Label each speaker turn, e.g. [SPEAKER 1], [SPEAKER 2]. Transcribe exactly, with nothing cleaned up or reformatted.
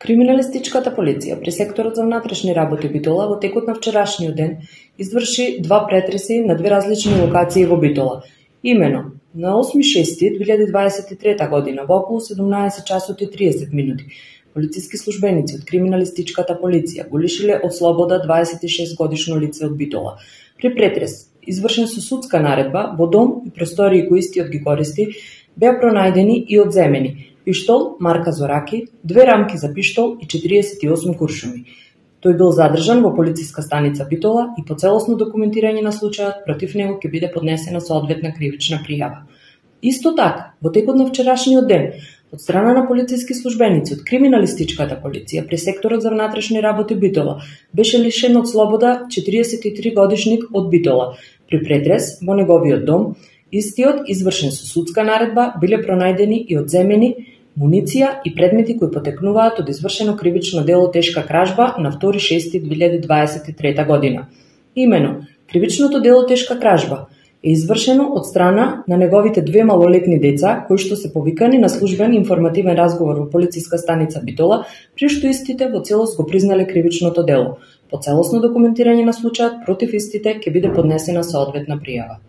[SPEAKER 1] Криминалистичката полиција при секторот за внатрешни работи Битола во текот на вчерашниот ден изврши два претреси на две различни локации во Битола. Имено, на осми шести две илјади дваесет и трета година во околу седумнаесет часот и триесет минути, полициски службеници од криминалистичката полиција го лишиле од слобода дваесет и шест годишно лице од Битола. При претрес, извршен со судска наредба, во дом и простории кои истиот ги користи, беа пронајдени и одземени пиштол марка Зораки, две рамки за пиштол и четириесет и осум куршуми. Тој бил задржан во полициска станица Битола и по целосно документирање на случајот против него ќе биде поднесена соодветна кривична пријава. Исто така, во текот на вчерашниот ден, од страна на полициски службеници од криминалистичката полиција при секторот за внатрешни работи Битола беше лишен од слобода четириесет и три годишник од Битола. При претрес во неговиот дом, истиот извршен со судска наредба, биле пронајдени и одземени муниција и предмети кои потекнуваат од извршено кривично дело тешка кражба на втори шести две илјади дваесет и трета година. Имено, кривичното дело тешка кражба е извршено од страна на неговите две малолетни деца, кои што се повикани на службен информативен разговор во полициска станица Битола, при што истите во целост го признале кривичното дело. По целосно документирање на случајот против истите ќе биде поднесена соодветна пријава.